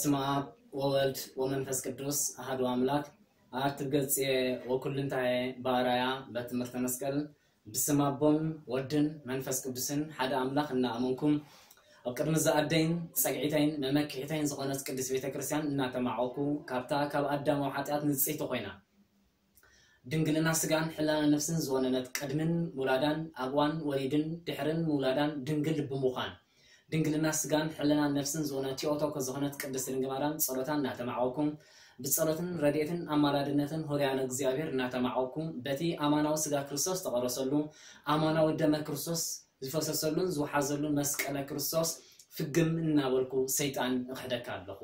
በስመ አብ ወወልድ ወመንፈስ ቅዱስ አሐዱ አምላክ። አርትብ ገጽየ ወኩልንታየ በአራያ በትምህርተ መስቀል። ብስም አቦን ወድን መንፈስ ቅዱስን ሓደ አምላክ እናአመንኩም፣ ኣብ ቅድሚ ዝኣደይን ጸግዒተይን መመክሒተይን ዝኾነት ቅድስት ቤተ ክርስቲያን እናተማዕወኩ፣ ካብታ ካብ አዳማዊ ኃጢአት ንጽሕቲ ኮይና ድንግልና ስጋን ሕልና ነፍስን ዝወነነት፣ ቅድምን ውላዳን፣ አብ እዋን ወሊድን ድሕርን ምውላዳን ድንግል ብምዃን፣ ድንግልና ስጋን ሕልና ነፍስን ዝወነ ቲኦቶኮ ዝኾነት ቅድስት ድንግል ማርያም ጸሎታ እናተማዕወኩም፣ ብጸሎትን ረድኤትን አማላድነትን ሆርያነ እግዚኣብሔር እናተማዕወኩም፣ በቲ አማናዊ ስጋ ክርስቶስ ተቐረሰሉ፣ አማናዊ ደመ ክርስቶስ ዝፈሰሰሉን ዝወሓዘሉን መስቀለ ክርስቶስ ፍግም እናበልኩ ሰይጣን እኽሕደካ ኣለኹ።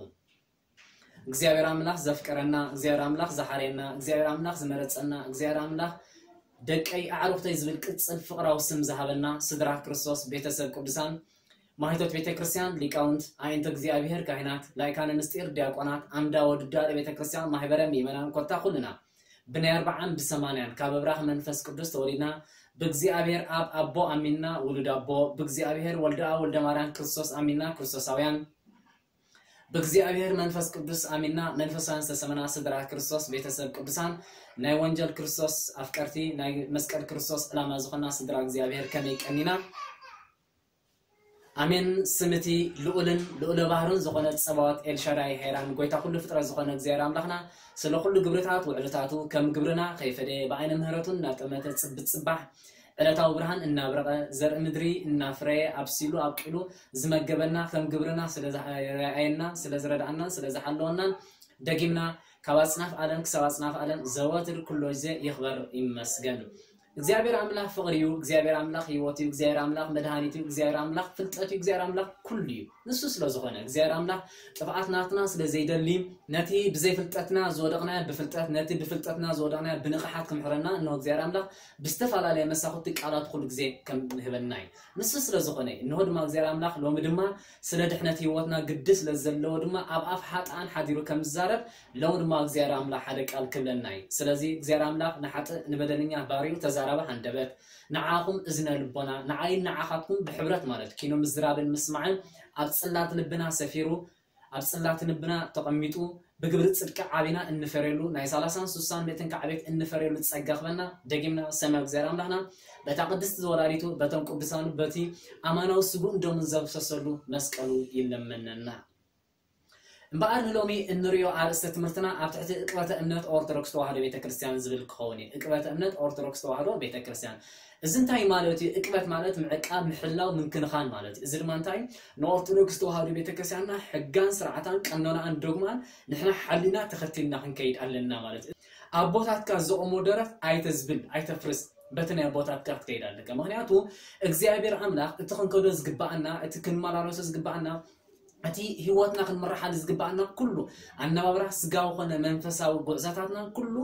እግዚኣብሔር አምላኽ ዘፍቀረና፣ እግዚኣብሔር አምላኽ ዝሓረየና፣ እግዚኣብሔር አምላኽ ዝመረጸና፣ እግዚኣብሔር አምላኽ ደቀይ አዕሩኽተይ ዝብል ቅጽል ፍቕራዊ ስም ዝሃበና ስድራ ክርስቶስ ቤተሰብ ቅዱሳን ማህቶት ቤተ ክርስቲያን ሊቃውንት፣ አዕይንተ እግዚኣብሔር ካህናት፣ ላይካነ ምስጢር ዲያቆናት፣ አምዳ ወድዳ ቤተ ክርስቲያን ማህበረ ምእመናን ኮታ ኩልና ብናይ አርብዓን ብሰማንያን ካብ እብራኽ መንፈስ ቅዱስ ተወሊድና ብእግዚኣብሔር አብ አቦ አሚንና ውሉድ አቦ ብእግዚኣብሔር ወልደ አብ ወልደ ማርያም ክርስቶስ አሚንና ክርስቶሳውያን ብእግዚኣብሔር መንፈስ ቅዱስ አሚንና መንፈሳውያን ዝተሰመና ስድራ ክርስቶስ ቤተሰብ ቅዱሳን ናይ ወንጀል ክርስቶስ አፍቀርቲ ናይ መስቀል ክርስቶስ ዕላማ ዝኾና ስድራ እግዚኣብሔር ከመይ ቀኒና። አሜን። ስምቲ ልዑልን ልዑለ ባህርን ዝኾነ ጸባዖት ኤልሻዳይ ሄራን ጎይታ ኩሉ ፍጥረት ዝኾነ እግዚኣብሔር አምላኽና ስለ ኩሉ ግብርታት ውዕልታቱ ከም ግብርና ከይፈደየ ብዓይነ ምህረቱ እናጠመተ ጽብጽባሕ ዕለታዊ ብርሃን እናብረቐ ዘርኢ ምድሪ እናፍረየ ኣብሲሉ ኣብቂሉ ዝመገበና ከም ግብርና ስለ ዝረኣየና ስለ ዝረድኣናን ስለ ዝሓለወናን ደጊምና ካብ ኣጽናፍ ዓለም ክሳብ ኣጽናፍ ዓለም ዘወትር ኩሎ ግዜ ይኽበር ይመስገን። እግዚኣብሔር ኣምላኽ ፍቕሪ እዩ። እግዚኣብሔር ኣምላኽ ህይወት እዩ። እግዚኣብሔር ኣምላኽ መድሃኒት እዩ። እግዚኣብሔር ኣምላኽ ፍልጠት እዩ። እግዚኣብሔር ኣምላኽ ኩሉ እዩ። ንሱ ስለ ዝኾነ እግዚኣብሔር ኣምላኽ ጥፍኣት ናትና ስለ ዘይደሊ ነቲ ብዘይፍልጠትና ዝወደቕናዮ ብፍልጠት ነቲ ብፍልጠትና ዝወደቕናዮ ብንቕሓት ክምሕረና እንሆ እግዚኣብሔር ኣምላኽ ብዝተፈላለየ መሳኹቲ ቃላት ኩሉ ግዜ ከም ንህበና እዩ። ንሱ ስለ ዝኾነ እዩ። እንሆ ድማ እግዚኣብሔር ኣምላኽ ሎሚ ድማ ስለ ድሕነት ህይወትና ግዲ ስለ ዘለዎ ድማ ኣብ ኣፍ ሓጥኣን ሓዲሩ ከም ዝዛረብ ሎም ድማ እግዚኣብሔር ኣምላኽ ሓደ ቃል ክብለና እዩ። ስለዚ እግዚኣብሔር ኣምላኽ ንሓጥእ ንበደለኛ ባሪኡ ተዛራቢ ሃንደበት ንዓኹም እዝነ ልቦና ንዓይን ንዓኻትኩም ብሕብረት ማለት ኪኖ ምዝራብን ምስማዕን ኣብ ጽላት ልብና ሰፊሩ ኣብ ጽላት ልብና ተቐሚጡ ብግብሪ ጽድቂ ዓቢና እንፈርየሉ ናይ ሰላሳን ስሳን ምእትን ካዕቤት እንፈርየሉ ጸጋ ክበና ደጊምና ሰማይ እግዚኣብሔር ኣምላኽና በታ ቅድስቲ ዘወላዲቱ በቶም ቅዱሳኑ በቲ ኣማናዊ ስጉእን ደሙን ዘፍሰሰሉ መስቀሉ ይለመነና። እምበኣር ንሎሚ እንርእዮ ኣርእስተ ትምህርትና ኣብ ትሕቲ ዕቅበተ እምነት ኦርቶዶክስ ተዋህዶ ቤተ ክርስቲያን ዝብል ክኸውን እዩ። ዕቅበተ እምነት ኦርቶዶክስ ተዋህዶ ቤተ ክርስቲያን እዚ እንታይ ማለት እዩ? ዕቅበት ማለት ምዕቃብ፣ ምሕላው፣ ምንክንኻን ማለት እዩ። እዚ ድማ እንታይ ንኦርቶዶክስ ተዋህዶ ቤተ ክርስቲያንና ሕጋን ስርዓታን ቀኖናኣን ዶግማን ንሕና ሓሊና ተኸቲልና ክንከይድ ኣለና ማለት እዩ። ኣቦታትካ ዘቆሞ ደረት ኣይተዝብል ኣይተፍርስ በቲ ናይ ኣቦታትካ ክትከይድ ኣለካ። ምክንያቱ እግዚኣብሔር ኣምላኽ እቲ ክንከዶ ዝግባኣና እቲ ክንመላለሶ ዝግባኣና እቲ ህይወትና ክንምርሓሉ ዝግባኣና ኩሉ ኣነባብራ ስጋዊ ኮነ መንፈሳዊ ጉዕዛታትና ኩሉ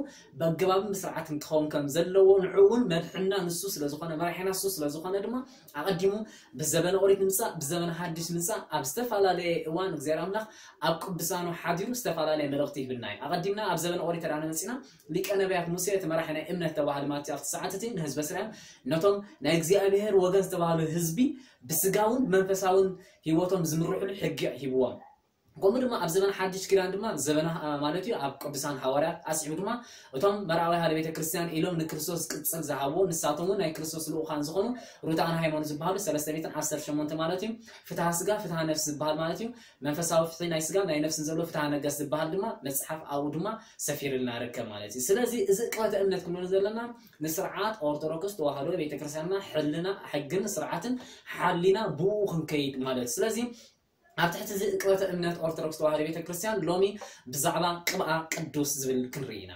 በገባብን ብስርዓትን ክኸውን ከም ዘለዎ ንዕኡ እውን መድሕና ንሱ ስለዝኾነ መራሒና ንሱ ስለዝኾነ ድማ ኣቐዲሙ ብዘበነ ኦሪት ንምጻእ ብዘበነ ሓድሽ ምጻእ ኣብ ዝተፈላለየ እዋን እግዚኣብሔር ኣምላኽ ኣብ ቅዱሳኑ ሓዲሩ ዝተፈላለየ መልእኽቲ ይህብና እዩ። ኣቐዲምና ኣብ ዘበነ ኦሪት ተዳነ መጺና ሊቀ ነቢያት ሙሴ እቲ መራሒ ናይ እምነት ተባህሊ ማለት ኣብቲ ሰዓት እቲ ንህዝበ እስራኤል ነቶም ናይ እግዚኣብሔር ወገን ዝተባህሉ ህዝቢ ብስጋውን መንፈሳውን ህይወቶም ዝምርሑሉ ሕጊ ሂብዎም። ከምኡ ድማ ኣብ ዘበን ሓድሽ ኪዳን ድማ ዘበን ማለት እዩ ኣብ ቅዱሳን ሃዋርያት ኣስዒቡ ድማ እቶም መርኣዊ ሓደ ቤተ ክርስቲያን ኢሎም ንክርስቶስ ቅጽል ዝሃብዎ ንሳቶም እውን ናይ ክርስቶስ ልኡኻን ዝኾኑ ሩታን ሃይማኖት ዝበሃሉ ሰለስተ ሚእትን ዓሰርተ ሸሞንተ ማለት እዩ ፍትሃ ስጋ ፍትሃ ነፍሲ ዝበሃል ማለት እዩ መንፈሳዊ ፍትሒ ናይ ስጋ ናይ ነፍስን ዘሎ ፍትሃ ነገስ ዝበሃል ድማ መጽሓፍ ኣብኡ ድማ ሰፊርልና ርከብ ማለት እዩ። ስለዚ እዚ ቅበተ እምነት ክንብል ዘለና ንስርዓት ኦርቶዶክስ ተዋህዶ ቤተክርስትያንና ሕልና ሕግን ስርዓትን ሓሊና ብኡ ክንከይድ ማለት እዩ። ስለዚ ኣብ ትሕቲ እዚ ቅበተ እምነት ኦርቶዶክስ ተዋህዶ ቤተክርስትያን ሎሚ ብዛዕባ ቅብኣ ቅዱስ ዝብል ክንርኢ ኢና።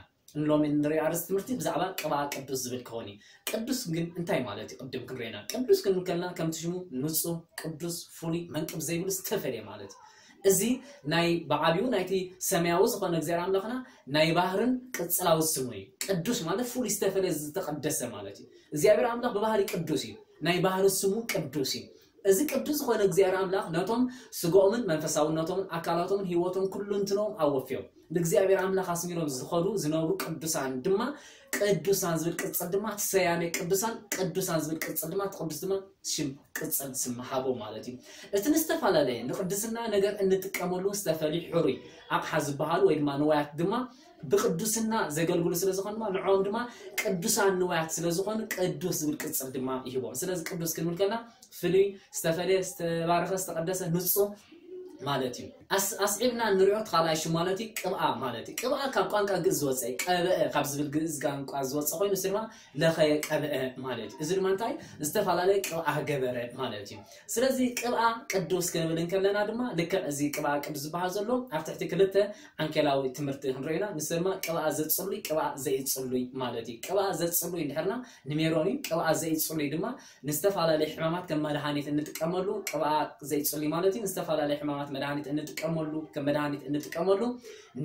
ሎሚ ንሪኦ ኣርእስቲ ትምህርቲ ብዛዕባ ቅብኣ ቅዱስ ዝብል ክኸውን እዩ። ቅዱስ ግን እንታይ ማለት እዩ? ቅድም ክንሪኦ ኢና። ቅዱስ ክንብል ከለና ከምቲ ሽሙ ንጹህ፣ ቅዱስ፣ ፍሉይ፣ መንቅብ ዘይብሉ ዝተፈልየ ማለት እዩ። እዚ ናይ ብዓብዩ ናይቲ ሰማያዊ ዝኾነ እግዚኣብሔር ኣምላኽና ናይ ባህርን ቅጽላዊ ስሙ እዩ። ቅዱስ ማለት ፍሉይ ዝተፈልየ ዝተቐደሰ ማለት እዩ። እግዚኣብሔር ኣምላኽ ብባህሪ ቅዱስ እዩ። ናይ ባህሪ ስሙ ቅዱስ እዩ። እዚ ቅዱስ ዝኾነ እግዚኣብሔር ኣምላኽ ነቶም ስጋኦምን መንፈሳውነቶምን ኣካላቶምን ህይወቶም ኩሉ እንትኖም ኣወፍዮም። ንእግዚኣብሔር ኣምላኽ ኣስሚሮም ዝኸዱ ዝነብሩ ቅዱሳን ድማ ቅዱሳን ዝብል ቅጽል ድማ እቲ ሰያሜ ቅዱሳን ቅዱሳን ዝብል ቅጽል ድማ እቲ ቅዱስ ድማ ሽም ቅጽል ስም ሃቦ ማለት እዩ። እቲ ንዝተፈላለየ ንቅድስና ነገር እንጥቀመሉ ዝተፈልዩ ሕሩይ ኣቕሓ ዝበሃሉ ወይ ድማ ንዋያት ድማ ብቅዱስና ዘገልግሉ ስለ ዝኾኑ ድማ ንዕኦም ድማ ቅዱሳን ንዋያት ስለ ዝኾኑ ቅዱስ ዝብል ቅጽል ድማ ይህቦም። ስለዚ ቅዱስ ክንብል ከለና ፍሉይ ዝተፈለየ ዝተባረኸ ዝተቀደሰ ንጹህ ማለት እዩ። ኣስዒብና እንሪኦ እቲ ካልኣይ ሽም ማለት እዩ ቅብኣ ማለት እዩ። ቅብኣ ካብ ቋንቋ ግእዝ ዝወፀ ቀብአ ካብ ዝብል ግእዝ ቋንቋ ዝወፀ ኮይኑ ስማ ለኸየ ቀብአ ማለት እዩ። እዚ ድማ እንታይ ዝተፈላለየ ቅብኣ ገበረ ማለት እዩ። ስለዚ ቅብኣ ቅዱስ ክንብል እንከለና ድማ ልክዕ እዚ ቅብኣ ቅዱስ ዝበሃል ዘሎ ኣብ ትሕቲ ክልተ ዓንኬላዊ ትምህርቲ ክንሪኦ ኢና። ንሱ ድማ ቅብኣ ዘፅሉይ ቅብኣ ዘይፅሉይ ማለት እዩ። ቅብኣ ዘፅሉይ እንድሕርና ንሜሮን እዩ። ቅብኣ ዘይፅሉይ ድማ ንዝተፈላለዩ ሕማማት ከም መድሃኒት እንጥቀመሉ ቅብኣ ዘይፅሉይ ማለት እዩ። ንዝተፈላለዩ ሕማማት መድሃኒት እንጥቀመሉ ከም መድሃኒት እንጥቀመሉ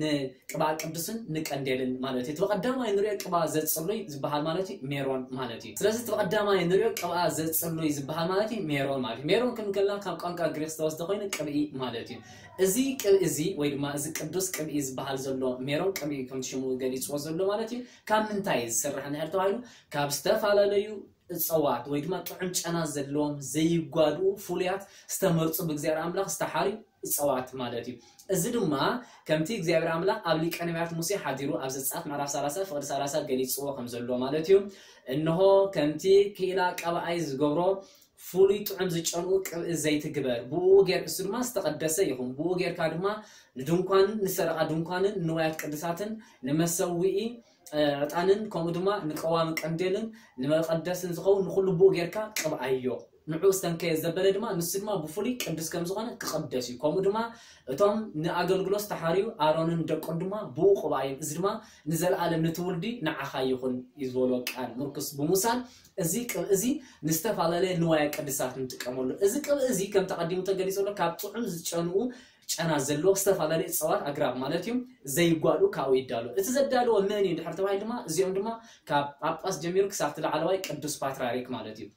ንቅብኣ ቅዱስን ንቀንዴልን ማለት እዩ። እቲ ብቀዳማይ ንሪኦ ቅብኣ ዘፅሉይ ዝበሃል ማለት እዩ ሜሮን ማለት እዩ። ስለዚ እቲ ብቀዳማይ ንሪኦ ቅብኣ ዘፅሉይ ዝበሃል ማለት እዩ ሜሮን ማለት እዩ። ሜሮን ክንከልና ካብ ቋንቋ ግሪክ ዝተወስደ ኮይኑ ቅብኢ ማለት እዩ። እዚ ቅብኢ እዚ ወይ ድማ እዚ ቅዱስ ቅብኢ ዝበሃል ዘሎ ሜሮን ቅብኢ ከም ሽሙ ገሊፅዎ ዘሎ ማለት እዩ። ካብ ምንታይ እዩ ዝስራሕ እንድሕር ተባሂሉ ካብ ዝተፈላለዩ እፀዋት ወይ ድማ ጥዑም ጨና ዘለዎም ዘይጓድኡ ፍሉያት ዝተመርፁ ብእግዚኣብሔር ኣምላኽ ዝተሓርዩ እፀዋት ማለት እዩ። እዚ ድማ ከምቲ እግዚኣብሔር ኣምላኽ ኣብ ሊቀ ነቢያት ሙሴ ሓዲሩ ኣብ ዘጸኣት ምዕራፍ ሰላሳ ፍቕዲ ሰላሳ ገሊጽዎ ከም ዘሎ ማለት እዩ። እንሆ ከምቲ ክኢላ ቀብኣይ ዝገብሮ ፍሉይ ጥዑም ዝጨንኡ ቅብኢ ዘይትግበር ብኡ ጌር እሱ ድማ ዝተቐደሰ ይኹን ብኡ ጌርካ ድማ ንድንኳንን ንሰረቓ ድንኳንን ንዋያት ቅዱሳትን ንመሰውኢ ዕጣንን ከምኡ ድማ ንቀዋሚ ቀንዴልን ንመቐደስን ዝኸውን ንኹሉ ብኡ ጌርካ ቅብኣዮ። ንዑ ዝተንከየ ዘበለ ድማ ንሱ ድማ ብፍሉይ ቅዱስ ከም ዝኾነ ክቐደስ እዩ። ከምኡ ድማ እቶም ንኣገልግሎት ዝተሓርዩ ኣሮንን ደቁን ድማ ብኡ ቅብኣዮም። እዚ ድማ ንዘለኣለም ንትውልዲ ንዓኻ ይኹን እዩ ዝበሎ ቃል ምርኩስ ብምውሳድ እዚ ቅብኢ እዚ ንዝተፈላለየ ንዋየ ቅድሳት ንጥቀመሉ። እዚ ቅብኢ እዚ ከም ተቐዲሙ ተገሊጹ ኣሎ ካብ ጥዑም ዝጨንኡ ጨና ዘለዎ ዝተፈላለዩ እፅዋት ኣግራብ ማለት እዩ ዘይጓዱ ካብኡ ይዳሎ። እቲ ዘዳለዎ መን እዩ ድሕር ተባሂሉ ድማ እዚኦም ድማ ካብ ጳጳስ ጀሚሩ ክሳብ እቲ ላዕለዋይ ቅዱስ ፓትርያርክ ማለት እዩ።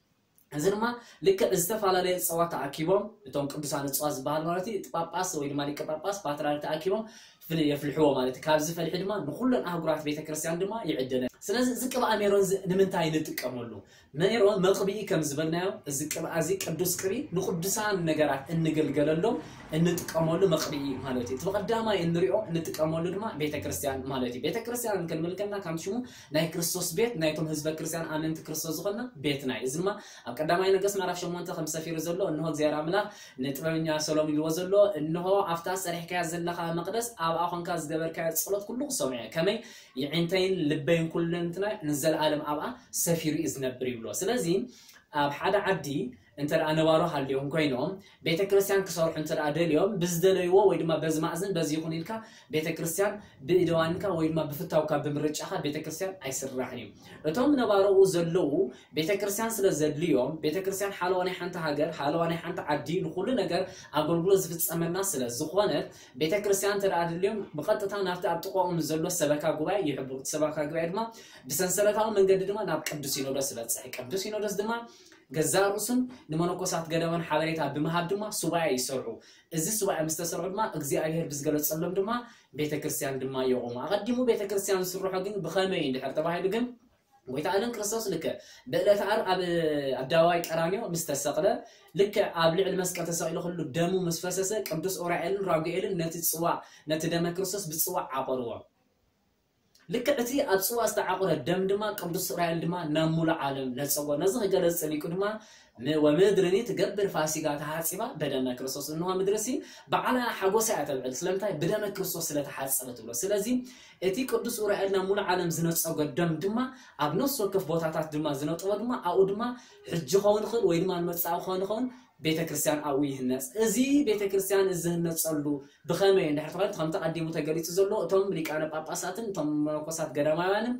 እዚ ድማ ልክዕ ዝተፈላለዩ እፅዋት ተኣኪቦም እቶም ቅዱሳን እፅዋት ዝበሃል ማለት እዩ እቲ ጳጳስ ወይ ድማ ሊቀ ጳጳስ ፓትርያርክ ተኣኪቦም የፍልሕዎ ማለት እዩ። ካብዚ ፈልሒ ድማ ንኩለን ኣህጉራት ቤተክርስትያን ድማ ይዕደለ። ስለዚ እዚ ቅብኣ ሜሮን እዚ ንምንታይ ንጥቀመሉ? ሜሮን መቕብኢ ከም ዝበልናዮ እዚ ቅብኣ እዚ ቅዱስ ቅብኢ ንቅዱሳን ነገራት እንግልገለሎም እንጥቀመሉ መቕብኢ ማለት እዩ። እቲ ብቐዳማይ እንሪኦ እንጥቀመሉ ድማ ቤተክርስትያን ማለት እዩ። ቤተክርስትያን ክንብል ከለና ከም ሽሙ ናይ ክርስቶስ ቤት ናይቶም ህዝበ ክርስትያን ኣመንቲ ክርስቶስ ዝኾንና ቤትና እዩ። እዚ ድማ ኣብ ቀዳማይ ነገስት ምዕራፍ ሸሞንተ ከም ሰፊሩ ዘሎ እንሆ እግዚኣብሔር ኣምላኽ ንጥበበኛ ሰሎሞን ኢልዎ ዘሎ እንሆ ኣብታ ሰሪሕካያ ዘለኻ መቕደስ ኣብኣ ኮንካ ዝገበርካዮ ጸሎት ኩሉ ክሰምዖ እየ። ከመይ የዒንተይን ልበይን ኩለንትናይ ንዘለኣለም ኣብኣ ሰፊሩ እዩ ዝነብር ይብሎ። ስለዚ ኣብ ሓደ ዓዲ እንተ ደኣ ነባሮ ሃልዮም ኮይኖም ቤተ ክርስቲያን ክሰርሑ እንተ ደኣ ደልዮም ብዝደለይዎ ወይ ድማ በዚ ማእዝን በዚ ይኹን ኢልካ ቤተ ክርስቲያን ብእደዋንካ ወይ ድማ ብፍታውካ ብምርጫኻ ቤተ ክርስቲያን ኣይስራሕን እዩ። እቶም ነባሮኡ ዘለዉ ቤተ ክርስቲያን ስለ ዘድልዮም ቤተ ክርስቲያን ሓለዋ ናይ ሓንቲ ሃገር ሓለዋ ናይ ሓንቲ ዓዲ ንኹሉ ነገር ኣገልግሎት ዝፍጸመልና ስለ ዝኾነት ቤተ ክርስቲያን እንተ ደኣ ደልዮም ብቐጥታ ናብቲ ኣብ ጥቕኦም ዘሎ ሰበካ ጉባኤ ይሕብሩ። እቲ ሰበካ ጉባኤ ድማ ብሰንሰለታዊ መንገዲ ድማ ናብ ቅዱስ ሲኖዶስ ዝበጽሕ። ቅዱስ ሲኖዶስ ድማ ገዛእ ርእሱን ንመነኮሳት ገዳማን ሓበሬታ ብምሃብ ድማ ሱባኤ ይሰርሑ። እዚ ሱባኤ ምስ ተሰርሑ ድማ እግዚኣብሔር ብዝገለጸሎም ድማ ቤተ ክርስቲያን ድማ የቑሙ። ኣቐዲሙ ቤተ ክርስቲያን ዝስርሖ ግን ብኸመይ እዩ እንድሕር ተባሂሉ ግን ጎይታ ኣለም ክርስቶስ ልክዕ ብዕለተ ዓርብ ኣብ ኣደባባይ ቀራንዮ ምስ ተሰቕለ ልክዕ ኣብ ልዕሊ መስቀል ተሰቒሉ ኩሉ ደሙ ምስ ፈሰሰ ቅዱስ ኡራኤልን ራጉኤልን ነቲ ጽዋዕ ነቲ ደመ ክርስቶስ ብጽዋዕ ዓቆርዎ። ልክዕ እቲ ኣብ ጽዋ ዝተዓቑረ ደም ድማ ቅዱስ እስራኤል ድማ ናብ ሙሉእ ዓለም ነጸጎ። ነዚ ክገለጽ ጸሊቁ ድማ ም- ወምድርኒ ትገብር ፋሲጋ ተሓጺባ በደመ ክርስቶስ። እንሆ ምድርሲ በዓላ ሓጎሳ እያ ተብዕል። ስለምንታይ? ብደመ ክርስቶስ ስለ ተሓጸበ ትብሎ። ስለዚ እቲ ቅዱስ ኡራኤል ናብ ሙሉእ ዓለም ዝነጸጎ ደም ድማ ኣብ ነፍሲ ወከፍ ቦታታት ድማ ዝነጠቦ ድማ ኣብኡ ድማ ሕጂ ክኸውን ይኽእል ወይ ድማ ንመጻኢ ክኸውን ይኸውን ቤተ ክርስቲያን ኣብኡ ይህነጽ። እዚ ቤተ ክርስቲያን እዚ ዝህነጸሉ ብኸመይ እንድሕር ተባሂሉ ከምቲ ቀዲሙ ተገሊጹ ዘሎ እቶም ሊቃነ ጳጳሳትን እቶም መነኮሳት ገዳማውያንን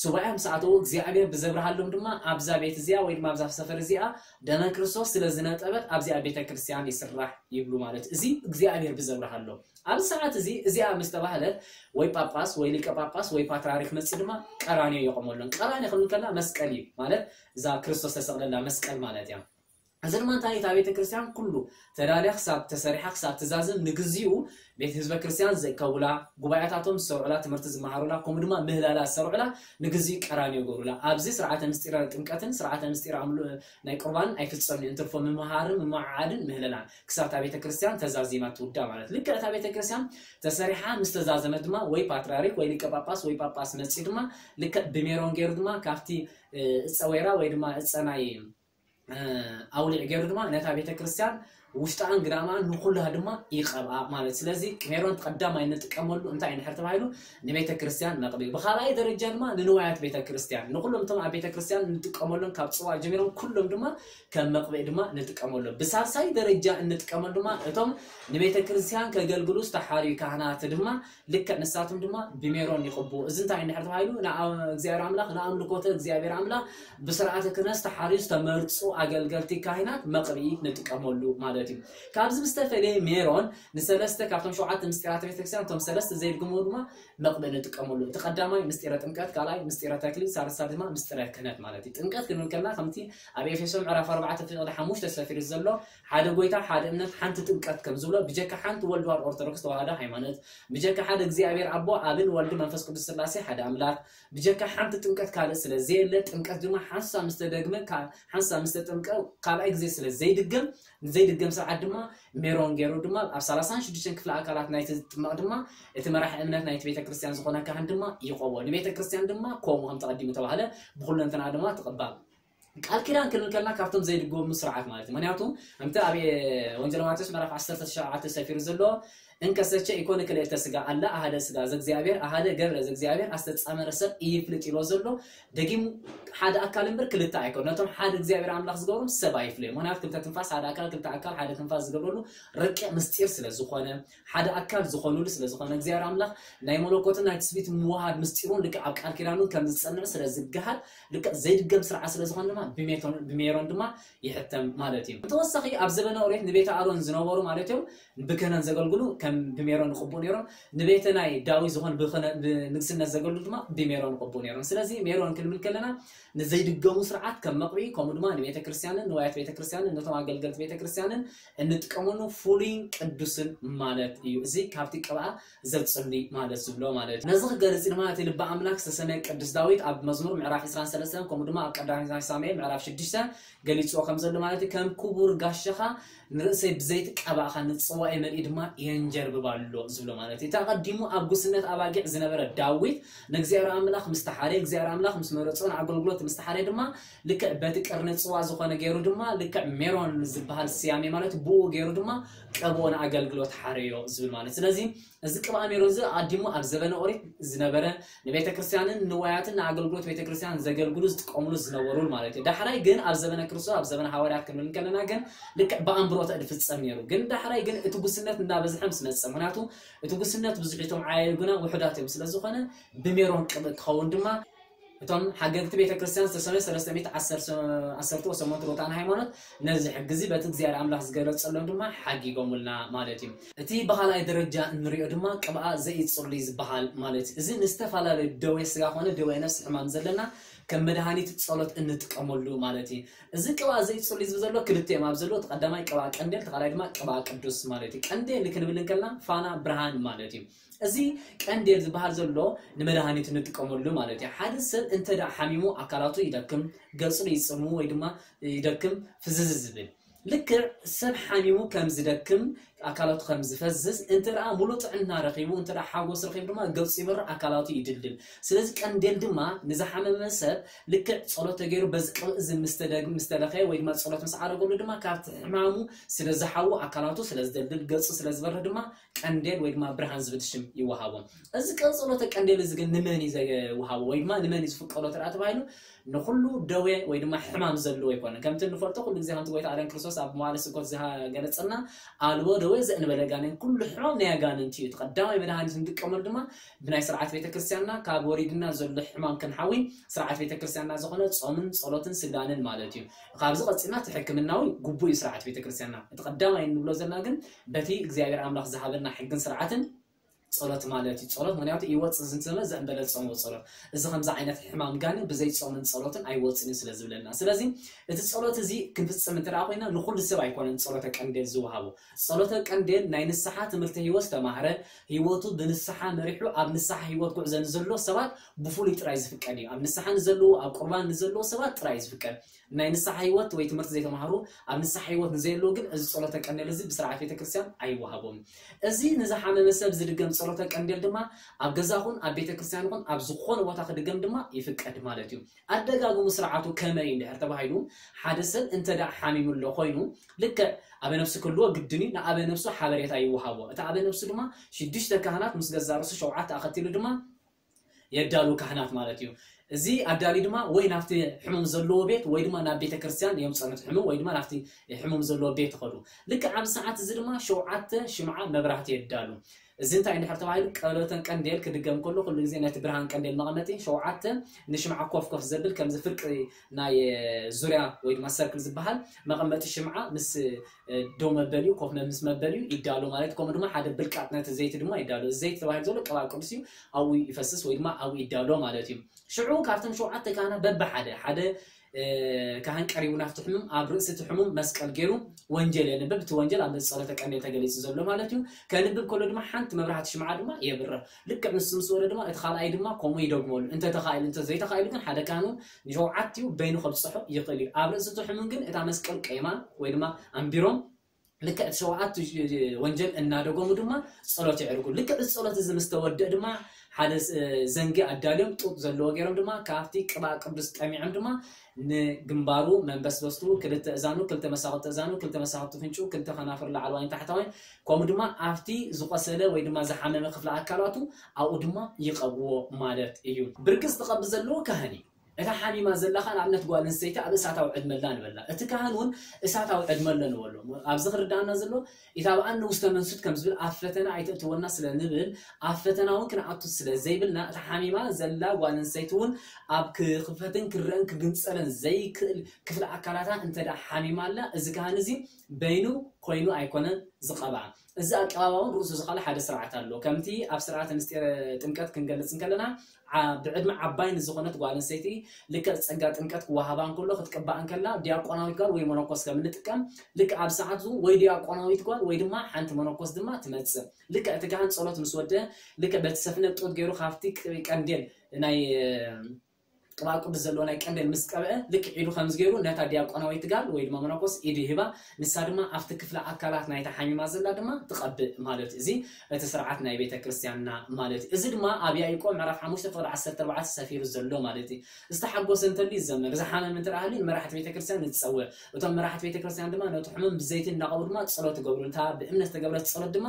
ሱባኤ ምስ ኣተዉ እግዚኣብሔር ብዘብርሃሎም ድማ ኣብዛ ቤት እዚኣ ወይ ድማ ኣብዛ ሰፈር እዚኣ ደመ ክርስቶስ ስለ ዝነጠበት ኣብዚኣ ቤተ ክርስቲያን ይስራሕ ይብሉ ማለት እዩ። እዚ እግዚኣብሔር ብዘብርሃሎም ኣብዚ ሰዓት እዚ እዚኣ ምስ ተባህለት ወይ ጳጳስ ወይ ሊቀ ጳጳስ ወይ ፓትርያርክ መፂ ድማ ቀራንዮ የቆመሎም። ቀራንዮ ክንብል ከለና መስቀል እዩ ማለት እዛ ክርስቶስ ተሰቕለላ መስቀል ማለት እያ። እዚ ድማ እንታይ እዩ? እታ ቤተ ክርስቲያን ኩሉ ተዳልያ ክሳብ ተሰሪሓ ክሳብ ትዛዝም ንግዚኡ ቤት ህዝበ ክርስቲያን ዝእከቡላ፣ ጉባኤታቶም ዝሰርዑላ፣ ትምህርቲ ዝመሃሩላ፣ ከምኡ ድማ ምህላላ ዝሰርዑላ ንግዚኡ ቀራንዮ ይገብሩላ። ኣብዚ ስርዓተ ምስጢረ ጥምቀትን ስርዓተ ምስጢረ ኣምሉ ናይ ቁርባንን ኣይፍጸምን እዩ። እንትርፎ ምምሃርን ምምዓዓድን ምህለላን ክሳብ እታ ቤተ ክርስቲያን ተዛዚማ ትውዳ ማለት። ልክዕ እታ ቤተ ክርስቲያን ተሰሪሓ ምስ ተዛዘመት ድማ ወይ ፓትርያርክ ወይ ሊቀ ጳጳስ ወይ ጳጳስ መጺኡ ድማ ልክዕ ብሜሮን ገይሩ ድማ ካብቲ እፀ ወይራ ወይ ድማ እፀ ናይ ኣውሊዕ ገይሩ ድማ ነታ ቤተ ክርስቲያን ውሽጣን ግዳማን ንኩላ ድማ ይቐብኣ ማለት። ስለዚ ሜሮን ቀዳማይ እንጥቀመሉ እንታይ እዩ እንድሕር ተባሂሉ ንቤተ ክርስቲያን መቕብኢ፣ ብኻልኣይ ደረጃ ድማ ንንዋያት ቤተ ክርስቲያን ንኩሎም እቶም ኣብ ቤተ ክርስቲያን እንጥቀመሎም ካብ ጽዋ ጀሚሮም ኩሎም ድማ ከም መቕብኢ ድማ ንጥቀመሎም። ብሳልሳይ ደረጃ እንጥቀመሉ ድማ እቶም ንቤተ ክርስቲያን ከገልግሉ ዝተሓርዩ ካህናት ድማ ልክዕ ንሳቶም ድማ ብሜሮን ይቕብኡ። እዚ እንታይ እንድሕር ተባሂሉ ንእግዚኣብሔር ኣምላኽ ንኣምልኮተ እግዚኣብሔር ኣምላኽ ብስርዓተ ክህነት ዝተሓርዩ ዝተመርጹ ኣገልገልቲ ካህናት መቕብኢ ንጥቀመሉ ማለት እዩ። ካብዚ ብዝተፈለየ ሜሮን ንሰለስተ ካብቶም ሸውዓተ ምስጢራተ ቤተክርስትያን እቶም ሰለስተ ዘይድግሞ ድማ መቕብኢ ንጥቀመሉ። እቲ ቀዳማይ ምስጢረ ጥምቀት፣ ካልኣይ ምስጢረ ተክሊል፣ ሳልሳይ ድማ ምስጢረ ክህነት ማለት እዩ። ጥምቀት ክንብል ከለና ከምቲ ኣብ ኤፌሶ ምዕራፍ ኣርባዕተ ፍቕዲ ሓሙሽተ ሰፊሩ ዘሎ ሓደ ጎይታ፣ ሓደ እምነት፣ ሓንቲ ጥምቀት ከም ዝብሎ ብጀካ ሓንቲ ወልድ ዋሕድ ኦርቶዶክስ ተዋህዶ ሃይማኖት ብጀካ ሓደ እግዚኣብሔር ኣቦ ኣብን ወልድ መንፈስ ቅዱስ ስላሴ ሓደ ኣምላኽ ብጀካ ሓንቲ ጥምቀት ካልእ ስለ ዘየለ ጥምቀት ድማ ሓንሳ ምስ ተደግመ ሓንሳ ምስ ተጠምቀ ካልኣይ ግዜ ስለ ዘይድገም ንዘይድገም ስርዓት ድማ ሜሮን ገይሩ ድማ ኣብ ሰላሳን ሽዱሽተን ክፍለ ኣካላት ናይቲ ዝጥመቕ ድማ እቲ መራሒ እምነት ናይቲ ቤተ ክርስቲያን ዝኾነ ካህን ድማ ይቐቦ ንቤተ ክርስቲያን ድማ ከምኡ ከም ተቐዲሙ ተባህለ ብኩለንትና ድማ ትቕባል ቃል ኪዳን ክንብል ከለና ካብቶም ዘይድገሙ ስርዓት ማለት እዩ። ምክንያቱ ከምቲ ኣብ ወንጌል ማቴዎስ ምዕራፍ ዓሰርተ ትሽዓተ ሰፊሩ ዘሎ እንከሰቸ ኢኮነ ክልኤተ ስጋ ኣላ ኣሃደ ስጋ ዘእግዚኣብሔር ኣሃደ ገብረ ዘእግዚኣብሔር ኣስተጻመረ ሰብ ኢይፍልጥ ኢሎ ዘሎ ደጊሙ ሓደ ኣካል እምበር ክልተ ኣይኮን ነቶም ሓደ እግዚኣብሔር ኣምላኽ ዝገብሮም ሰብ ኣይፍለዮም። ምክንያቱ ክልተ ትንፋስ ሓደ ኣካል ክልተ ኣካል ሓደ ትንፋስ ዝገብረሉ ረቂቕ ምስጢር ስለ ዝኾነ ሓደ ኣካል ዝኾኑሉ ስለ ዝኾነ እግዚኣብሔር ኣምላኽ ናይ መለኮትን ናይ ትስቢት ምውሃድ ምስጢሩን ልክዕ ኣብ ቃል ኪዳኑ ከም ዝጸንዕ ስለ ዝገሃል ልክዕ ዘይድገም ስርዓት ስለ ዝኾነ ድማ ብሜሮን ድማ ይሕተም ማለት እዩ። ብተወሳኺ ኣብ ዘበነ ኦሪት ንቤተ ኣሮን ዝነበሩ ማለት እዮም ብክህነት ዘገልግሉ ከም ብሜሮን ይቕብኡ ነይሮም። ንቤተ ናይ ዳዊት ዝኾኑ ብንግስነት ዘገልግሉ ድማ ብሜሮን ይቕብኡ ነይሮም። ስለዚ ሜሮን ክንብል ከለና ንዘይድገሙ ስርዓት ከም መቕብኢ ከምኡ ድማ ንቤተ ክርስቲያንን ንዋያት ቤተ ክርስቲያንን ነቶም ኣገልገልቲ ቤተ ክርስቲያንን እንጥቀመሉ ፍሉይን ቅዱስን ማለት እዩ። እዚ ካብቲ ቅብኣ ዘጽሊ ማለት ዝብሎ ማለት እዩ። ነዚ ክገልጽ ድማ እቲ ልቢ ኣምላክ ዝተሰመየ ቅዱስ ዳዊት ኣብ መዝሙር ምዕራፍ ዕስራን ሰለስተን ከምኡ ድማ ኣብ ቀዳማይ ሳሙኤል ምዕራፍ ሽዱሽተ ገሊጽዎ ከም ዘሎ ማለት እዩ። ከም ክቡር ጋሻኻ ንርእሰይ ብዘይቲ ቀባእኻ ንጽዋኤ መልኢ ድማ የንጀርብባ ኣሎ ዝብሎ ማለት እዩ። እቲ ኣቐዲሙ ኣብ ጉስነት ኣባጊዕ ዝነበረ ዳዊት ንእግዚኣብሔር ኣምላኽ ምስ ተሓረየ እግዚኣብሔር ኣምላኽ ምስ መረጾ ንኣገልግሎት ምስ ተሓረየ ድማ ልክዕ በቲ ቅርኒ ጽዋ ዝኾነ ገይሩ ድማ ልክዕ ሜሮን ዝበሃል ስያሜ ማለት ብኡ ገይሩ ድማ ቀብኦ ንኣገልግሎት ሓረዮ ዝብል ማለት ስለዚ እዚ ቅብኣ ሜሮን እዚ ኣዲሙ ኣብ ዘበነ ኦሪት ዝነበረ ንቤተ ክርስቲያንን ንዋያትን ንኣገልግሎት ቤተ ክርስቲያን ዘገልግሉ ዝጥቀምሉ ዝነበሩን ማለት እዩ። ዳሕራይ ግን ኣብ ዘበነ ክርስቶስ ኣብ ዘበነ ሃዋርያት ክንብል ከለና ግን ልክዕ ብኣንብሮተ እድ ፍጸም ነይሩ። ግን ዳሕራይ ግን እቲ ጉስነት እንዳበዝሐ ምስ መጸ ምክንያቱ እቲ ጉስነት ብዙሕ እቶም ዓያዩ ግና ውሑዳት እዮም ስለ ዝኾነ ብሜሮን ቅብእ ክኸውን ድማ እቶም ሓገግቲ ቤተ ክርስቲያን ዝተሰመዩ ሰለስተ ሚእቲ ዓሰርተ ወሰሞንቱ ሮታን ሃይማኖት ነዚ ሕጊ እዚ በቲ እግዚኣብሔር ኣምላኽ ዝገለጸሎም ድማ ሓጊጎምልና ማለት እዩ። እቲ ብኻልኣይ ደረጃ እንሪኦ ድማ ቅብኣ ዘኢጽሉይ ዝበሃል ማለት እዩ። እዚ ንዝተፈላለዩ ደዌ ስጋ ኮነ ደዌ ነፍሲ ሕማም ዘለና ከም መድሃኒት ጸሎት እንጥቀመሉ ማለት እዩ። እዚ ቅብኣ ዘኢጽሉይ ዝብል ዘሎ ክልተ እዮም ኣብ ዘለዎ። እቲ ቀዳማይ ቅብኣ ቀንዴል፣ እቲ ካልኣይ ድማ ቅብኣ ቅዱስ ማለት እዩ። ቀንዴል ክንብል እንከልና ፋና ብርሃን ማለት እዩ። እዚ ቀንዴል ዝበሃል ዘሎ ንመድሃኒት እንጥቀመሉ ማለት እዩ። ሓደ ሰብ እንተ ደኣ ሓሚሙ ኣካላቱ ይደክም፣ ገጹ ይጽሙ ወይ ድማ ይደክም፣ ፍዝዝ ዝብል ልክዕ ሰብ ሓሚሙ ከም ዝደክም ኣካላቱ ከም ዝፈዝዝ እንተ ደኣ ሙሉእ ጥዕና ረኺቡ እንተ ደኣ ሓጎስ ረኺቡ ድማ ገጹ ይበርህ ኣካላቱ ይድልድል። ስለዚ ቀንዴል ድማ ንዝሓመመ ሰብ ልክዕ ጸሎት ተገይሩ በዚ ቅብእ እዚ ምስ ተደግ- ምስ ተለኸየ ወይ ድማ ጸሎት ምስ ዓረገሉ ድማ ካብቲ ሕማሙ ስለ ዝሓዊ ኣካላቱ ስለ ዝደልድል ገጹ ስለ ዝበርህ ድማ ቀንዴል ወይ ድማ ብርሃን ዝብል ሽም ይወሃቦ። እዚ ቀጸሎተ ቀንዴል እዚ ግን ንመን እዩ ዝወሃቦ ወይ ድማ ንመን እዩ ዝፍቀዶ ተደኣ ተባሂሉ ንኹሉ ደዌ ወይ ድማ ሕማም ዘለዎ ኣይኮነን። ከምቲ እንፈልጦ ኩሉ ግዜ ከምቲ ጎይታ ኣዳም ክርስቶስ ኣብ መዋዕለ ስብከቱ ዝገለጸልና ኣልቦ ደዌ ዘእንበለ ጋኔን ኩሉ ሕማም ናይ ኣጋንንቲ እዩ። እቲ ቀዳማይ መድሃኒት ንጥቀመሉ ድማ ብናይ ስርዓት ቤተክርስትያንና ካብ ወሪድና ዘሎ ሕማም ክንሓዊ ስርዓት ቤተክርስትያንና ዝኾነ ጾምን ጸሎትን ስግዳንን ማለት እዩ። ካብዚ ቀጺልና እቲ ሕክምናዊ ግቡእ እዩ ስርዓት ቤተክርስትያንና። እቲ ቀዳማይ እንብሎ ዘለና ግን በቲ እግዚኣብሔር ኣምላኽ ዝሃበና ሕግን ስርዓትን ጸሎት ማለት እዩ። ጸሎት ምክንያቱ ይወጽእ ዝንትመ ዘእንበለ ጾም ጸሎት። እዚ ከምዚ ዓይነት ሕማም ጋኔን ብዘይ ጾምን ጸሎትን ኣይወጽእን ስለ ዝብለና። ስለዚ እቲ ጸሎት እዚ ክንፍጽም እንተ ደኣ ኮይና ንኹሉ ሰብ ኣይኮነን ጸሎተ ቀንዴል ዝወሃቦ። ጸሎተ ቀንዴል ናይ ንስሓ ትምህርቲ ህይወት ዝተማህረ፣ ህይወቱ ብንስሓ መሪሑ ኣብ ንስሓ ህይወት ጉዕዞ ንዘሎ ሰባት ብፍሉይ ጥራይ ዝፍቀድ እዩ። ኣብ ንስሓ ንዘለዉ፣ ኣብ ቁርባን ንዘለዉ ሰባት ጥራይ እዩ ዝፍቀድ። ናይ ንስሓ ህይወት ወይ ትምህርቲ ዘይተማህሩ፣ ኣብ ንስሓ ህይወት ንዘየለዉ ግን እዚ ጸሎተ ቀንዴል እዚ ብስርዓት ቤተክርስትያን ኣይወሃቦም። እዚ ንዝሓመመ ሰብ ዝድገም ጸሎተ ቀንዴል ድማ ኣብ ገዛ ኹን ኣብ ቤተክርስትያን ኹን ኣብ ዝኾነ ቦታ ክድገም ድማ ይፍቀድ ማለት እዩ። ኣደጋግሙ ስርዓቱ ከመይ እንድሕር ተባሂሉ፣ ሓደ ሰብ እንተ ደኣ ሓሚሙ ኣሎ ኮይኑ፣ ልክዕ ኣበ ነፍሱ ክህልዎ ግድን እዩ። ንኣበ ነፍሱ ሓበሬታ ይወሃቦ። እቲ ኣበ ነፍሱ ድማ ሽዱሽተ ካህናት ምስ ገዛ ርእሱ ሸውዓተ ኣኸቲሉ ድማ የዳሉ ካህናት ማለት እዩ። እዚ ኣዳሊ ድማ ወይ ናብቲ ሕሙም ዘለዎ ቤት ወይ ድማ ናብ ቤተ ክርስቲያን እዮም ጸኑት ሕሙም ወይ ድማ ናብቲ ሕሙም ዘለዎ ቤት ይኸዱ። ልክዕ ኣብዚ ሰዓት እዚ ድማ ሸውዓተ ሽምዓ መብራህቲ የዳሉ። እዚ እንታይ እንድሕር ተባሂሉ ቀሎተን ቀንዴል ክድገም ከሎ ኩሉ ግዜ ነቲ ብርሃን ቀንዴል መቐመጢ ሸውዓተ ንሽምዓ ኮፍ ኮፍ ዘብል ከምዚ ፍርቂ ናይ ዙርያ ወይ ድማ ሰርክል ዝበሃል መቐመጢ ሽምዓ ምስ ደው መበሊኡ ኮፍ ምስ መበሊኡ ይዳሎ ማለት ከምኡ ድማ ሓደ ብልቃጥ ነቲ ዘይቲ ድማ ይዳሎ። እዚ ዘይቲ ተባሂሉ ዘሎ ቅብኣ ቅዱስ እዩ። ኣብኡ ይፈስስ ወይ ድማ ኣብኡ ይዳሎ ማለት እዩ። ሽዑ ካብቶም ሸውዓተ ካህናት በብሓደ ሓደ ካህን ቀሪቡ ናብቲ ሕሙም ኣብ ርእሲ እቲ ሕሙም መስቀል ገይሩ ወንጀል የንብብ። እቲ ወንጀል ኣብ ጸሎተ ቀንዴል ተገሊጹ ዘሎ ማለት እዩ። ከንብብ ከሎ ድማ ሓንቲ መብራህቲ ሽምዓ ድማ የብርህ። ልክዕ ንሱ ምስ ወደ ድማ እቲ ካልኣይ ድማ ከምኡ ይደግመሉ። እንተ ተኻኢሉ፣ እንተ ዘይተኻኢሉ ግን ሓደ ካህኑ ንሸውዓቲኡ በይኑ ከብጽሖ ይኽእል እዩ። ኣብ ርእሲ እቲ ሕሙም ግን እታ መስቀል ቀይማ ወይ ድማ ኣንቢሮም ልክዕ እቲ ሸውዓቱ ወንጀል እናደገሙ ድማ ጸሎት የዕርጉ። ልክዕ እዚ ጸሎት እዚ ምስ ተወደእ ድማ ሓደ ዘንጊ ኣዳልዮም ጡጥ ዘለዎ ገይሮም ድማ ካብቲ ቅብኣ ቅዱስ ጠሚዖም ድማ ንግንባሩ መንበስበስቱ ክልተ እዛኑ ክልተ መሳኹቲ እዛኑ ክልተ መሳኹቲ ፍንጩ ክልተ ከናፍር ላዕለዋይን ታሕተዋይን ከምኡ ድማ ኣብቲ ዝቆሰለ ወይ ድማ ዝሓመመ ክፍሊ ኣካላቱ ኣብኡ ድማ ይቐብዎ ማለት እዩ። ብርቂ ዝትቐብ ዘለዎ ካህን እዩ። እታ ሓሚማ ዘላ ኸኣ ንኣብነት ጓል ኣንስተይቲ ኣብ እሳታዊ ዕድመ ኣላ ንበላ። እቲ ካህን እውን እሳታዊ ዕድመ ኣሎ ንበሎ። ኣብዚ ክርዳኣና ዘሎ ኢታብኣኒ ውስተ መንሱት ከም ዝብል ኣብ ፈተና ኣይተእትወና ስለ ንብል ኣብ ፈተና እውን ክንኣቱ ስለ ዘይብልና እታ ሓሚማ ዘላ ጓል ኣንስተይቲ እውን ኣብ ክኽፈትን ክረአን ክግንጸለን ዘይክእል ክፍሊ ኣካላታ እንተ ደኣ ሓሚማ ኣላ እዚ ካህን እዚ በይኑ ኮይኑ ኣይኮነን ዝቐብኣ። እዚ ኣቀባባውን ርእሱ ዝኻለ ሓደ ስርዓት ኣሎ። ከምቲ ኣብ ስርዓተ ምስጢረ ጥምቀት ክንገልጽ እንከለና ብዕድመ ዓባይ ንዝኾነት ጓል ኣንስተይቲ ልክዕ ጸጋ ጥምቀት ክወሃባ እንከሎ ክትቅባእ እንከላ ዲያቆናዊት ጓል ወይ መነኮስ ከም እንጥቀም ልክዕ ኣብ ሰዓቱ ወይ ዲያቆናዊት ጓል ወይ ድማ ሓንቲ መነኮስ ድማ ትመጽእ። ልክዕ እቲ ካህን ጸሎት ምስ ወደ ልክዕ በቲ ሰፍነ ጡጥ ገይሩ ካብቲ ቀንዴል ናይ ቅብኣ ቅዱስ ዘለዎ ናይ ቀንዴል ምስ ቀብአ ልክዕ ኢዱ ከምዚ ገይሩ ነታ ዲያቆናዊት ጋል ወይ ድማ መነኮስ ኢዱ ይህባ። ንሳ ድማ ኣብቲ ክፍለ ኣካላት ናይታ ሓሚማ ዘላ ድማ ትቐብእ ማለት እዩ። እዚ እቲ ስርዓት ናይ ቤተ ክርስቲያንና ማለት እዩ። እዚ ድማ ኣብ ያዕቆብ ምዕራፍ ሓሙሽተ ፍቕዲ ዓሰርተ ኣርባዕተ ሰፊሩ ዘሎ ማለት እዩ። ዝተሓጎሰ እንተልዩ ይዘመር፣ ዝሓመም እንተ ደኣ ሃልዩ ንመራሕቲ ቤተ ክርስቲያን ንጸውዕ። እቶም መራሕቲ ቤተ ክርስቲያን ድማ ነቲ ሕሙም ብዘይቲ እናቐቡ ድማ ጸሎት ይገብሩ። እታ ብእምነት ዝተገብረት ጸሎት ድማ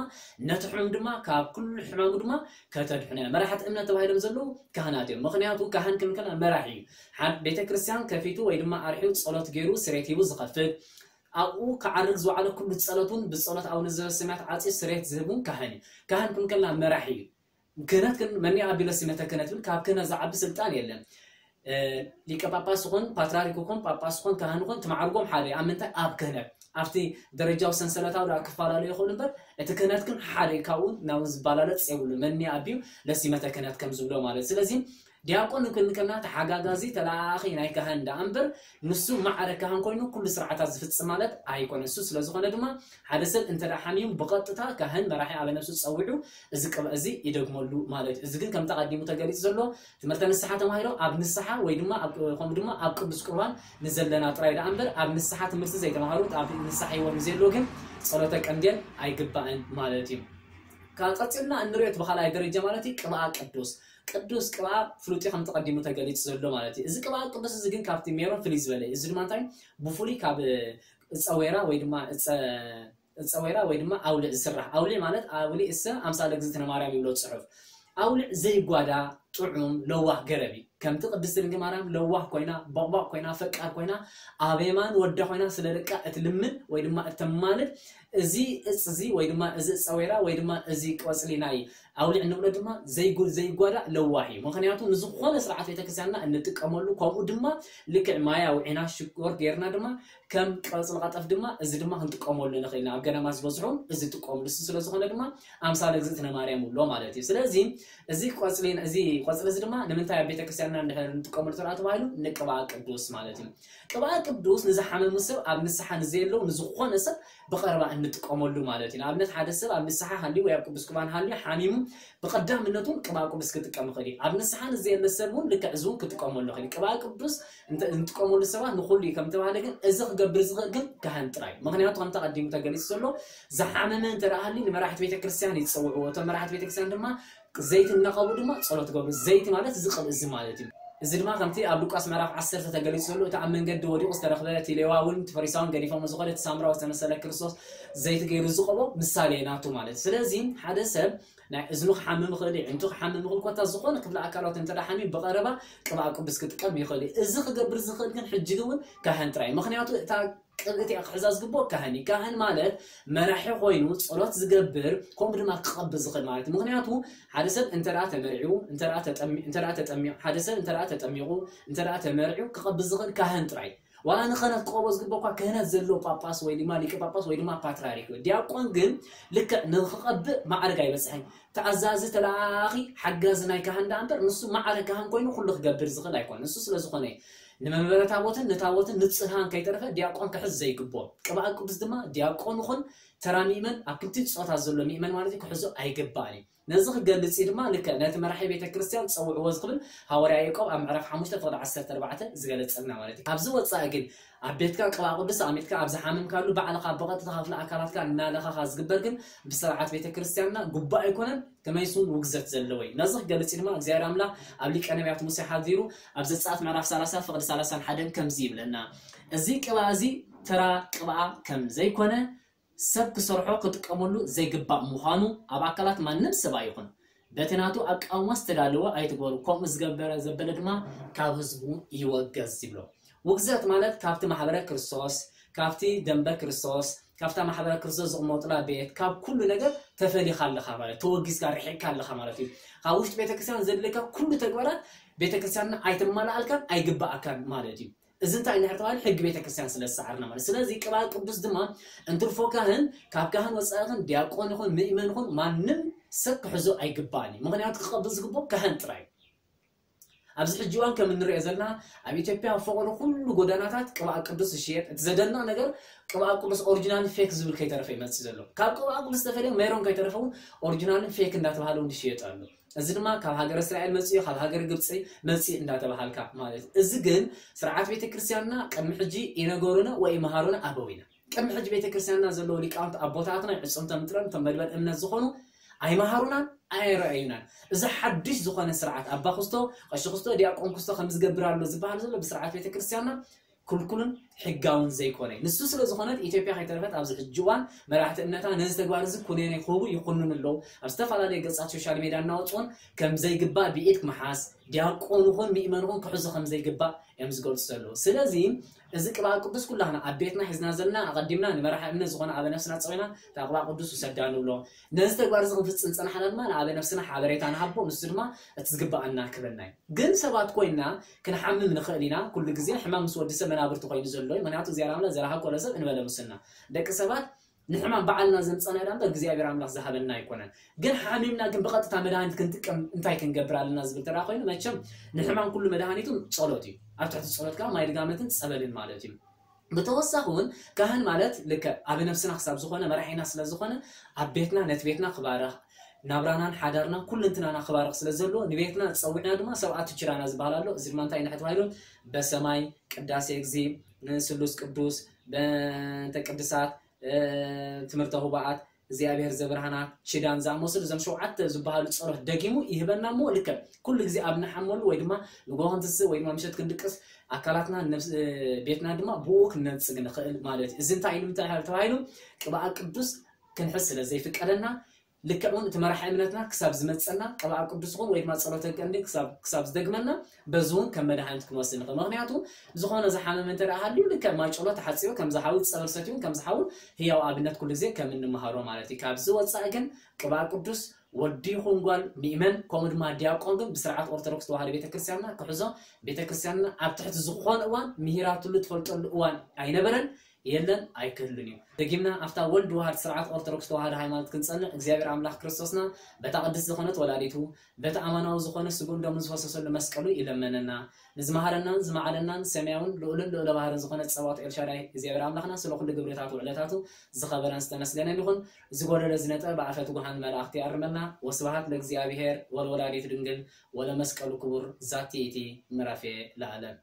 ነቲ ሕሙም ድማ ካብ ኩሉ ሕማሙ ድማ ከተድሕኖ እያ። መራሕቲ እምነት ተባሂሎም ዘለዉ ካህናት እዮም። ምኽንያቱ ካህን ክንብል ከለና መራሒ እዩ። ሓደ ቤተ ክርስቲያን ከፊቱ ወይ ድማ ኣርሒው ጸሎት ገይሩ ስሬት ሂቡ ዝኸፍት ኣብኡ ክዓርግ ዝወዓለ ኩሉ ጸሎት እውን ብጸሎት ኣቡነ ዘበሰማያት ዓጽዩ ስሬት ዝህብ እውን ካህን እዩ። ካህን ክንብል ከለና መራሒ እዩ። ክህነት ግን መን ኣቢሎ ሲመተ ክህነት ብል ካብ ክህነት ዝዓቢ ስልጣን የለን። ሊቀ ጳጳስ ይኹን ፓትርያርክ ይኹን ጳጳስ ይኹን ካህን ይኹን ትማዕርጎም ሓደ እዩ። ኣብ ምንታይ ኣብ ክህነት ኣብቲ ደረጃዊ ሰንሰለታዊ ዳ ክፈላለዩ ይኽእሉ እምበር እቲ ክህነት ግን ሓደ እዩ። ካብኡ ናብኡ ዝባላለጽ የብሉ። መን ኣቢዩ ለሲመተ ክህነት ከም ዝብሎ ማለት ስለዚ ዲያቆን ክንብል ከለና ተሓጋጋዚ ተለኣኣኺ ናይ ካህን ደኣ እምበር ንሱ ማዕረ ካህን ኮይኑ ኩሉ ስርዓታት ዝፍጽም ማለት ኣይኮነ። እሱ ስለ ዝኾነ ድማ ሓደ ሰብ እንተ ደኣ ሓሚሙ ብቐጥታ ካህን መራሒ ኣበ ነፍሱ ጸዊዑ እዚ ቅብኣ እዚ ይደግመሉ ማለት እዩ። እዚ ግን ከምቲ ኣቐዲሙ ተገሊጹ ዘሎ ትምህርተ ንስሓ ተማሂሮም ኣብ ንስሓ ወይ ድማ ኣብ ከምኡ ድማ ኣብ ቅዱስ ቁርባን ንዘለና ጥራይ ደኣ እምበር ኣብ ንስሓ ትምህርቲ ዘይተማሃሩ ኣብ ንስሓ ህይወት ንዘየለዉ ግን ጸሎተ ቀንዴል ኣይግባእን ማለት እዩ። ካብ ቀጺልና እንሪኦ እቲ ብኻልኣይ ደረጃ ማለት እዩ ቅብኣ ቅዱስ ቅዱስ ቅብኣ ፍሉጥ ከም ተቐዲሙ ተገሊጹ ዘሎ ማለት እዩ። እዚ ቅብኣ ቅዱስ እዚ ግን ካብቲ ሜሮን ፍልይ ዝበለ እዩ። እዚ ድማ እንታይ ብፍሉይ ካብ እፀ ወይራ ወይ ድማ እፀ እፀ ወይራ ወይ ድማ ኣውሊዕ ዝስራሕ። ኣውሊዕ ማለት ኣውሊዕ እሰ ኣምሳለ እግዝእትነ ማርያም ይብሎ ጽሑፍ። ኣውሊዕ ዘይጓዳ ጥዑም ለዋህ ገረብ እዩ። ከምቲ ቅድስቲ ድንግል ማርያም ለዋህ ኮይና፣ ቦቕቧቕ ኮይና፣ ፈቃር ኮይና፣ ኣብ የማን ወዳ ኮይና ስለ ደቃ እትልምን ወይ ድማ እተማልድ፣ እዚ እፅ እዚ ወይ ድማ እዚ እፀ ወይራ ወይ ድማ እዚ ቆፅሊ ናይ ኣውሊዕ እንብሎ ድማ ዘይጉ- ዘይጓዳእ ለዋህ እዩ። ምክንያቱ ንዝኾነ ስርዓት ቤተክርስትያንና እንጥቀመሉ፣ ከምኡ ድማ ልክዕ ማይ ኣውዒና ሽኮር ጌርና ድማ ከም ቆፅሊ ቀጠፍ ድማ እዚ ድማ ክንጥቀመሉ ንኽእል ኢና። ኣብ ገዳማት ዝበዝሑ እዚ ይጥቀምሉ። እሱ ስለ ዝኾነ ድማ ኣምሳለ እግዝእትነ ማርያም ይብሎ ማለት እዩ። ስለዚ እዚ ቆፅሊ እዚ ቆፅሊ እዚ ድማ ንምንታይ ኣብ ቤተክርስትያንና እንድሕር እንጥቀመሉ ተራ ተባሂሉ ንቅብኣ ቅዱስ ማለት እዩ። ቅብኣ ቅዱስ ንዝሓመሙ ሰብ ኣብ ንስሓ ንዘየለው ንዝኾነ ሰብ ብቐረባ እንጥቀመሉ ማለት እዩ። ንኣብነት ሓደ ሰብ ኣብ ንስሓ ሃልዩ ወይ ኣብ ቅዱስ ቁርባን ሃልዩ ሓሚሙ ብቐዳምነቱ ቅብኣ ቅዱስ ክጥቀም ይኽእል እዩ። ኣብ ንስሓ ንዘየለ ሰብ እውን ልክዕ እዚ እውን ክጥቀመሉ ይኽእል እዩ። ቅብኣ ቅዱስ እንተ- እንጥቀመሉ ሰባት ንኹሉ እዩ ከም ተባህለ ግን እዚ ክገብር ዝኽእል ግን ካህን ጥራይ እዩ። ምክንያቱ ከምቲ ቀዲሙ ተገሊጹ ዘሎ ዝሓመመ እንተ ደኣ ሃልዩ ንመራሕቲ ቤተክርስትያን ይጸውዕዎ። እቶም መራሕቲ ቤተክርስትያን ድማ ዘይቲ እናቐብኡ ድማ ጸሎት ይገብሩ። ዘይቲ ማለት እዚ ቅብእ እዚ ማለት እዩ። እዚ ድማ ከምቲ ኣብ ሉቃስ ምዕራፍ ዓሰርተ ተገሊጹ ዘሎ እቲ ኣብ መንገዲ ወዲቑ ዝተረኽበ እቲ ሌዋውን እቲ ፈሪሳውን ገዲፎም ዝኾነ እቲ ሳምራዊ ዝተመሰለ ክርስቶስ ዘይቲ ገይሩ ዝቐቦ ምሳሌ ናቱ ማለት እዩ። ስለዚ ሓደ ሰብ ናይ እዝኑ ክሓምም ይኽእል እዩ፣ ዕንቱ ክሓምም ይኽእል፣ ኮታ ዝኾነ ክፍለ ኣካላት እንተ ደኣ ሓሚም ብቐረባ ቅብኣ ቅዱስ ክጥቀም ይኽእል እዩ። እዚ ክገብር ዝኽእል ግን ሕጂ እውን ካህን ጥራይ እዩ። ምኽንያቱ እታ ቅብእቲ እያ ክሕዛ ዝግብኦ ካህን እዩ። ካህን ማለት መራሒ ኮይኑ ጸሎት ዝገብር ከምኡ ድማ ክቐብ ዝኽእል ማለት እዩ። ምኽንያቱ ሓደ ሰብ እንተ ደኣ ተመርዒው እንተ ደኣ ተጠሚ- እንተ ደኣ ተጠሚቑ ሓደ ሰብ እንተ ደኣ ተጠሚቑ እንተ ደኣ ተመርዒው ክቐብ ዝኽእል ካህን ጥራይ እዩ። ዋላ ንክህነት ክቐቦ ዝግብኦ እኳ ክህነት ዘለዎ ጳጳስ ወይ ድማ ሊቀ ጳጳስ ወይ ድማ ፓትርያርክ እዩ። ዲያቆን ግን ልክዕ ንክቐብእ ማዕረግ ኣይበጽሕን። ተኣዛዚ ተለኣኣኺ ሓጋዚ ናይ ካህን ደኣ እምበር ንሱ ማዕረ ካህን ኮይኑ ኩሉ ክገብር ዝኽእል ኣይኮነን። ንሱ ስለ ዝኾነ እዩ። ንመንበረ ታቦትን ንታቦትን ንጽህናን ከይተረፈ ዲያቆን ክሕዝ ዘይግብኦ። ቅብኣ ቅዱስ ድማ ዲያቆን ይኹን ተራ ምእመን ኣብ ክልቲኡ ጾታ ዘሎ ምእመን ማለት እዩ ክሕዞ ኣይግባእን እዩ። ነዚ ክገልጽ እዩ ድማ ልክዕ ነቲ መራሒ ቤተ ክርስቲያን ጸውዕዎ ዝኽብል ሃዋርያ ያዕቆብ ኣብ ምዕራፍ ሓሙሽተ ፍቕዲ ዓሰርተ ኣርባዕተ ዝገለጸልና ማለት እዩ። ካብዚ ወጻኢ ግን ኣብ ቤትካ ቅብኣ ቅዱስ ኣሚትካ ኣብ ዝሓመምካሉ ባዕልኻ ብቐጥታ ክፍለ ኣካላትካ እናለኻኻ ዝግበር ግን ብስርዓት ቤተ ክርስቲያንና ግቡእ ኣይኮነን፣ ከመይስ እውን ውግዘት ዘለዎ እዩ። ነዚ ክገልጽ እዩ ድማ እግዚኣብሔር ኣምላኽ ኣብ ሊቀ ነቢያት ሙሴ ሓዲሩ ኣብ ዘጸኣት ምዕራፍ ሰላሳ ፍቕዲ ሰላሳን ሓደን ከምዚ ይብለና፣ እዚ ቅብኣ እዚ ተራ ቅብኣ ከም ዘይኮነ ሰብ ክሰርሖ ክጥቀመሉ ዘይግባእ ምዃኑ ኣብ ኣካላት ማንም ሰብ ኣይኹን በቲ ናቱ ኣቃውማ ዝተዳለወ ኣይትግበሩ፣ ከምኡ ዝገበረ ዘበለ ድማ ካብ ህዝቡ ይወገዝ ይብሎ። ውግዘት ማለት ካብቲ ማሕበረ ክርስቶስ፣ ካብቲ ደንበ ክርስቶስ፣ ካብታ ማሕበረ ክርስቶስ ዝቕመጡላ ቤት፣ ካብ ኩሉ ነገር ተፈሊኻ ኣለኻ ማለት፣ ተወጊዝካ ርሒቕካ ኣለኻ ማለት እዩ። ካብ ውሽጢ ቤተክርስትያን ዘድልየካ ኩሉ ተግባራት ቤተክርስትያንና ኣይተማልኣልካን ኣይግባኣካን ማለት እዩ። እዚ እንታይ እንድሕር ተባሂሉ ሕጊ ቤተክርስትያን ስለ ዝሰዓርና ማለት። ስለዚ ቅብኣ ቅዱስ ድማ እንትርፎ ካህን ካብ ካህን ወፃኢ ይኹን ዲያቆን ይኹን ምእመን ይኹን ማንም ሰብ ክሕዞ ኣይግባእን እዩ። ምኽንያቱ ክቐብል ዝግብኦ ካህን ጥራይ እዩ። ኣብዚ ሕጂ እዋን ከም እንሪኦ ዘለና ኣብ ኢትዮጵያ ኣብ ፈቐዶ ኩሉ ጎዳናታት ቅብኣ ቅዱስ ዝሽየጥ። እቲ ዘደንቕ ነገር ቅብኣ ቅዱስ ኦሪጂናል ፌክ ዝብል ከይተረፈ ይመፅእ ዘሎ። ካብ ቅብኣ ቅዱስ ዝተፈለየ ሜሮን ከይተረፈ እውን ኦሪጂናልን ፌክ እንዳተባሃለ እውን ዝሽየጥ ኣሎ። እዚ ድማ ካብ ሃገረ እስራኤል መፅኡ፣ ካብ ሃገረ ግብፂ መፅኡ እንዳተባሃልካ ማለት እዩ። እዚ ግን ስርዓት ቤተክርስትያንና ቅድሚ ሕጂ ይነገሩና ወይ ይመሃሩና ኣበዊና። ቅድሚ ሕጂ ቤተክርስትያንና ዘለዉ ሊቃውንቲ ኣቦታትና ይዕፅምቶም ጥረን እቶም መድበል እምነት ዝኾኑ ኣይመሃሩናን ኣየረኣዩናን። እዚ ሓድሽ ዝኾነ ስርዓት ኣባ ክስቶ፣ ቀሺ ክስቶ፣ ዲያቆን ክስቶ ከም ዝገብር ኣሎ ዝበሃል ዘሎ ብስርዓት ቤተክርስትያንና ክልኩልን ሕጋውን ዘይኮነ እዩ። ንሱ ስለ ዝኾነት ኢትዮጵያ ከይተረፈት ኣብዚ ሕጂ እዋን መራሕቲ እምነታ ነዚ ተግባር እዚ ኩነኔ ክህቡ ይኹንኑ ኣለዉ። ኣብ ዝተፈላለዩ ገጻት ሶሻል ሜድያ እናወፅኡን ከም ዘይግባእ ብኢድ ምሓዝ፣ ዲያቆን ይኹን ምእመን ይኹን ክሕዞ ከም ዘይግባእ እዮም ዝገልፁ ዘለዉ። ስለዚ እዚ ቅብኣ ቅዱስ ኩላህና ኣብ ቤትና ሒዝና ዘለና ኣቐዲምና ንመራሒ እምነት ዝኾነ ኣበ ነፍስና ፀዊና እታ ቅብኣ ቅዱስ ውሰዳ ንብሎ። ነዚ ተግባር እዚ ክንፍፅም ዝፀናሕና ድማ ንኣበ ነፍስና ሓበሬታ ንሃቦ፣ ንሱ ድማ እቲ ዝግባኣና ክበና እዩ። ግን ሰባት ኮይንና ክንሓምም ንኽእል ኢና። ኩሉ ግዜ ሕማም ምስ ወዲ ሰብ መናብርቲ ኮይኑ ዘሎ እዩ። ምኽንያቱ እግዚኣብሔር ኣምላኽ ዘርሃ ኮሎ ሰብ እንበለ ሙስና ደቂ ሰባት ንሕማም ባዕልና ዘምፀና ኢና እምበር እግዚኣብሔር ኣምላኽ ዝሃበና ኣይኮነን። ግን ሓሚምና ግን ብቐጥታ መድሃኒት ክንጥቀም እንታይ ክንገብር ኣለና ዝብል ተራ ኮይኑ መቸም ንሕማም ኩሉ መድሃኒቱ ጸሎት እዩ። ኣብ ትሕቲ ጸሎት ከዓ ማይ ድጋመትን ጸበልን ማለት እዩ። ብተወሳኺ እውን ካህን ማለት ልክዕ ኣብ ነፍስና ክሳብ ዝኾነ መራሒና ስለ ዝኾነ ኣብ ቤትና ነቲ ቤትና ክባርኽ ናብራናን ሓዳርናን ኩልንትናና ክባርኽ ስለ ዘለዎ ንቤትና ጸዊዕና ድማ ሰብኣቱ ችራና ዝበሃል ኣሎ። እዚ ድማ እንታይ ኢና ተባሂሉ በሰማይ ቅዳሴ እግዚ ስሉስ ቅዱስ በእንተ ቅድሳት ትምህርተ ህቡኣት እግዚኣብሔር ዘብርሃናት ችዳን ዝኣመሰሉ እዞም ሸውዓተ ዝበሃሉ ጸሎት ደጊሙ ይህበና እሞ ልክዕ ኩሉ ግዜ ኣብ ንሓመሉ ወይ ድማ ንጎ ክንትስእ ወይ ድማ ምሸት ክንድቅስ ኣካላትና ቤትና ድማ ብኡ ክንነጽግ ንኽእል ማለት እዩ። እዚ እንታይ ኢሉ እንታይ ተባሂሉ ቅብኣ ቅዱስ ክንሕዝ ስለ ዘይፍቀደና ልክዕ እውን እቲ መራሒ እምነትና ክሳብ ዝመፀና ቅብኣ ቅዱስ ይኹን ወይ ድማ ጸሎተ ቀንዲ ክሳብ ዝደግመና በዚ እውን ከም መድሃኒት ክንወስድ ንኽእል። ምክንያቱ ዝኾነ ዝሓመመ እንተ ደኣ ሃልዩ ልክዕ ማይ ጸሎት ተሓጺቡ ከም ዝሓዊ ጸበል ሰትዩ ከም ዝሓዊ ህያው ኣብነት ኩሉ ግዜ ከም እንመሃሮ ማለት እዩ። ካብዚ ወጻኢ ግን ቅብኣ ቅዱስ ወዲ ይኹን ጓል ምእመን ከምኡ ድማ ዲያቆን ግን ብስርዓት ኦርቶዶክስ ተዋህዶ ቤተክርስቲያንና ክሕዞ ቤተክርስቲያንና ኣብ ትሕቲ ዝኾነ እዋን ምሂራትሉ ትፈልጠሉ እዋን ኣይነበረን። የለን ኣይክህሉን እዩ። ደጊምና ኣብታ ወልድ ዋህድ ስርዓት ኦርቶዶክስ ተዋህዶ ሃይማኖት ክንጸንዕ እግዚኣብሔር ኣምላኽ ክርስቶስና በታ ቅድስት ዝኾነት ወላዲቱ በቲ ኣማናዊ ዝኾነ ስጉን ደሙን ዝፈሰሰሉ መስቀሉ ይለመነና። ንዝመሃረናን ዝመዓለናን ሰማያውን ልዑልን ልዑለ ባህርን ዝኾነ ጸባኦት ኤልሻዳይ እግዚኣብሔር ኣምላኽና ስለ ኩሉ ግብርታቱ ውዕለታቱ ዝኸበረን ዝተመስገነን ይኹን። ዝጎደለ ዝነጠ ብኣፈ ትጉሃን መላእኽቲ ያርመና። ወስብሃት ለእግዚኣብሔር ወለወላዲቱ ድንግል ወለመስቀሉ ክቡር ዛቲ እቲ ምዕራፍ ለዓለም።